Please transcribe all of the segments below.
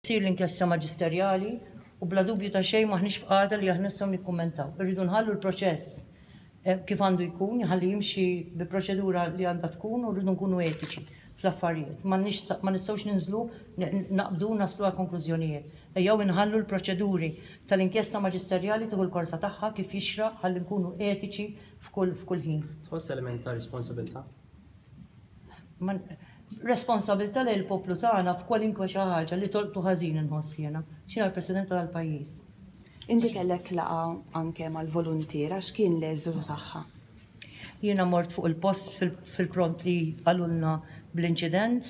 Ssir l-inkjesta maġisterjali u bla dubju ta' xejn m'aħniex f'qagħda li aħna nistgħu nikkummentaw. Irridu nħallu l-proċess kif għandu jkun, ħalli jimxi bi proċedura li għandha tkun u rridu nkunu etiċi fl-affarijiet. Ma nistgħux ninżlu naqbdu naslu għal konklużjonijiet. Ejjew inħallu l-proċeduri tal-inkjesta maġisterjali tieħu l-korsa tagħha kif jixraq ħalli nkunu etiċi f'kull ħin. Tħoss element ta' responsabilità? Responsabilità lejn il-poplu tagħna f'kwalinkwe xi ħaġa li tolqtu ħażin inħoss jiena. X'jiena l-President tal-pajjiż. Inti kellek laqgħa anke mal-voluntiera, x'kien l-eżitu tagħha? Jiena mort fuq il-post fil-pront li qalulna bl-inċident.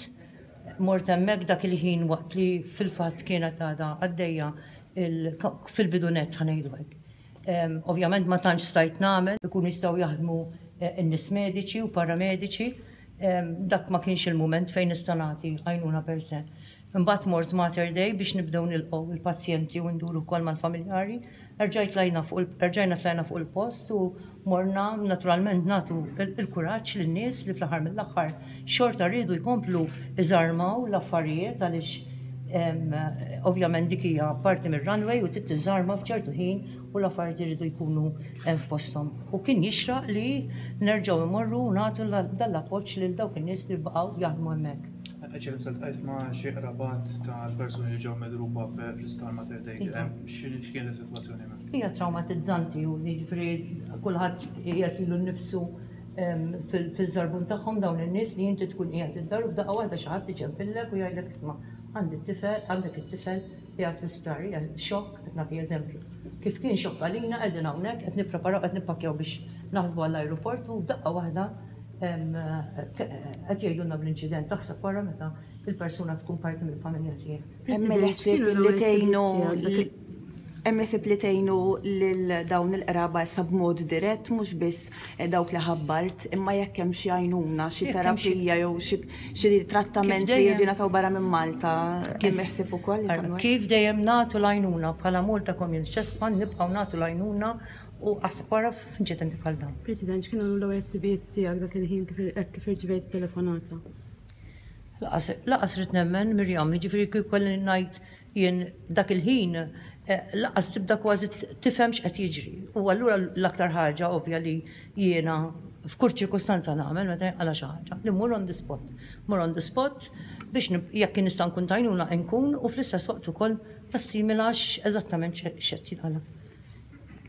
Mort hemmhekk dak il-ħin waqt li fil-fatt kienet għadha għaddejja fil-bidu nett ħa ngħidu hekk. Ovvjament ma tantx stajt nagħmel, ikunu jistgħu jaħdmu n-nies mediċi u paramediċi. Dak ma kienx il-mument fejn nista' nagħti għajnuna per se. Imbagħad mort Mater Dei biex nibdew nilqgħu il-pazjenti u nduru wkoll mal-familjari. Erġajt tlajna fuq erġajna tlajna fuq il-post u morna naturalment nagħtu il-kuraġġ lin-nies li fl-aħħar mill-aħħar xorta riedu jkomplu iżarmaw l-affarijiet għaliex ovvjament dik hija parti mir-runway u trid tiżarma f'ċertu ħin u l-affarijiet iridu jkunu f'posthom. U kien jixraq li nerġgħu imorru u nagħtu dan l-appoġġ lil dawk in-nies li baqgħu jaħdmu hemmhekk. Eċċellenza, ltqajt ma' xi qrabat tal-persuni li ġew medruba fl-isptar Mater Dei. Iva. X'kienet is-sitwazzjoni hemmhekk? Hija traumatizzanti u jiġifieri kulħadd qiegħed lilu nnifsu fil-żarbun tagħhom dawn in-nies li inti tkun qiegħed id-dar u f'daqqa waħda xi ħadd iċempillek u jgħidlek isma' għandi t-tifel, għandek it-tifel qiegħed fl-isptar. Hija xokk, qed nagħti eżempju. Kif kien xokk għalina qegħdin hawnhekk qed nippreparaw qed nippakkjaw biex naħsbu għall-ajruport u f'daqqa waħda qed jgħidulna bl-inċident. Taħseb wara meta il-persuna tkun parti mill-familja tiegħek. Hemm il-ħsieb li tgħinu hemm ħsieb li tgħinu lil dawn il-qraba issa b'mod dirett mhux biss dawk li ħabbart, imma jekk hemm xi għajnuna, xi terapija jew xi trattament li jridu jingħataw barra minn Malta, hemm ħsieb ukoll li tagħmlu hekk? Kif dejjem nagħtu l-għajnuna bħala Malta Community Chest Fund nibqgħu nagħtu l-għajnuna u aħseb wara f'inċidenti bħal dawn. President, x'kienu l-ewwel ħsibijiet tiegħek dak il-ħin hekk kif irċivejt it-telefonata? Laqas ridt nemmen, Miriam, jiġifieri kieku kelli ngħid jien dak il-ħin laqas tibda kważi tifhem x'qed jiġri. U allura l-aktar ħaġa ovvja li jiena f'kull ċirkustanza nagħmel meta jinqala' xi ħaġa, li mmur on the spot. Mmur on the spot biex jekk nista' nkun t'għajnuna nkun u fl-istess waqt ukoll nassimila x'eżattament x'qed jinqala'.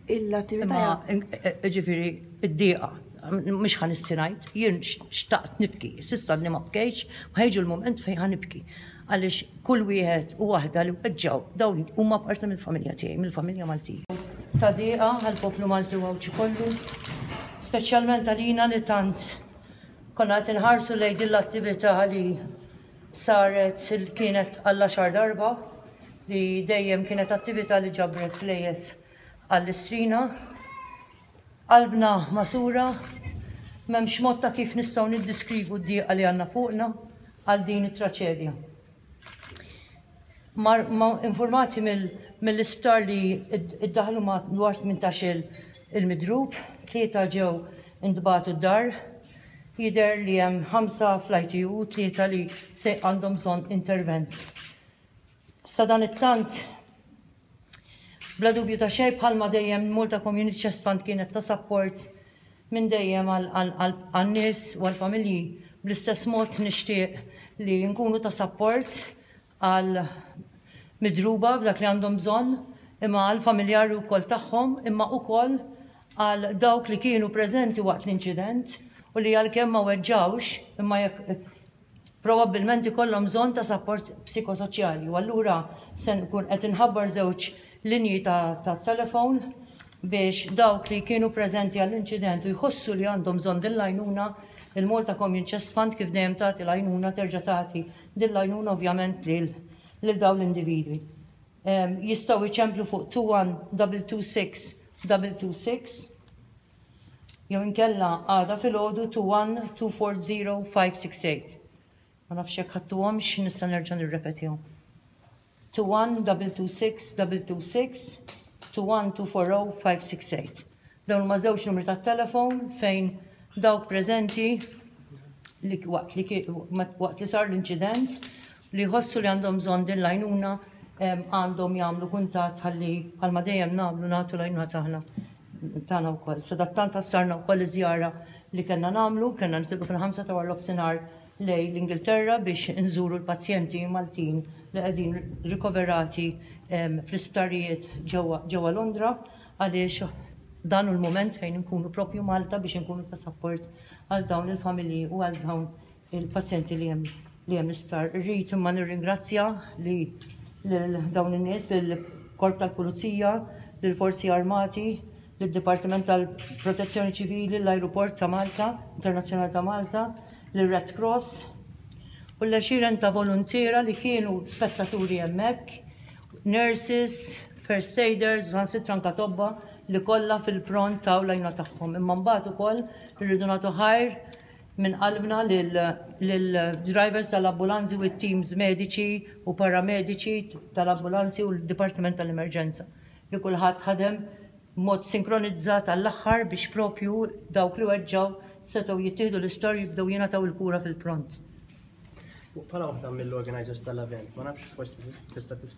L-attività. Imma ġifieri id-dieqa mhux ħa nissi ngħid, jien xtaqt nibki, s'issa għadni ma bkejtx, ma ħa jiġu l-mument fejn ħa nibki. Għaliex kull wieħed u waħda li weġġgħu dawn huma parti mill-familja tiegħi, mill-familja Maltija. Ta' dieqa għall-poplu Malti u Għawdxi kollu, speċjalment għalina li tant konna qed inħarsu lejn din l-attività li saret kienet għall-għaxar darba li dejjem kienet attività li ġabret flejjes għall-Istrina. Qalbna magħsura, m'hemmx mod ta' kif nistgħu niddiskrivu d-dieqa li għandna fuqna għal din it-traċedja. Mar, ma informati mill-isptar li iddaħlu madwar 18 il-midrub, tlieta ġew intbagħtu d-dar, Jidher li hemm ħamsa fl-ITU u tlieta li se għandhom bżonn intervent. Sadanittant, bla dubju ta' xejn bħalma dejjem Malta Community Chest Fund kienet ta' sapport minn dejjem għan-nies u għall-familji, bl-istess mod nixtieq li nkunu ta' sapport għal midruba f'dak li għandhom bżonn, imma għal familjari wkoll tagħhom, imma ukoll għal dawk li kienu preżenti waqt l-inċident u li għalkemm ma weġġgħux, imma jekk probabbilment ikollhom bżonn ta' sapport psikosoċjali. U allura se nkun qed inħabbar żewġ linji ta' telefon biex dawk li kienu preżenti għall-inċident u jħossu li għandhom bżonn din l-għajnuna, il-Malta Commune Chest Fund kif dejjem tagħti l-għajnuna terġa' tagħti Din l-għajnuna ovvjament lil lil dawn l-individwi. Jistgħu jċemplu fuq 21226 226 jew inkella għada filgħodu 21 240 568. Ma nafx jekk ħadtuhomx nista' nerġa' nirrepetihom. 21 226 226 21 240 568. Dawn huma żewġ numri tat-telefon fejn dawk preżenti li waqt li waqt li sar l-inċident li jħossu li għandhom bżonn din l-għajnuna għandhom jagħmlu kuntatt ħalli bħalma dejjem nagħmlu nagħtu l-għajnuna tagħna tagħna wkoll. Sadattant ħassarna wkoll iż-żjara li kellna nagħmlu, kellna nitilqu fil-5 ta' wara nofsinhar lejn l-Ingilterra biex inżuru l-pazjenti Maltin li qegħdin rikoverati fl-isptarijiet ġewwa Londra għaliex dan hu l-mument fejn inkunu propju Malta biex inkunu ta' support għal dawn il-familji u għal dawn il-pazjenti li hemm li hemm l-isptar. Irrid imma nirringrazzja li lil dawn in-nies, lill-Korp tal-Pulizija, lill-Forzi Armati, lid-Dipartiment tal-Protezzjoni Ċivili, l-Ajruport ta' Malta, Internazzjonali ta' Malta, lir-Red Cross u l-għexieren ta' voluntiera li kienu spettaturi hemmhekk, nurses, first aiders, saħansitra anke tobba li kollha fil-pront taw l-għajnuna tagħhom. Imma mbagħad ukoll irridu nagħtu ħajr minn qalbna lill-drivers tal-ambulanzi u t-teams mediċi u paramediċi tal-ambulanzi u l-Dipartiment tal-Emerġenza li kulħadd ħadem b'mod sinkronizzat għall-aħħar biex propju dawk li weġġgħu setgħu jittieħdu l-isptar u jibdew jingħataw il-kura fil-pront. Bħala waħda mill-organizers tal-event, ma nafx forsi tista' tispjega.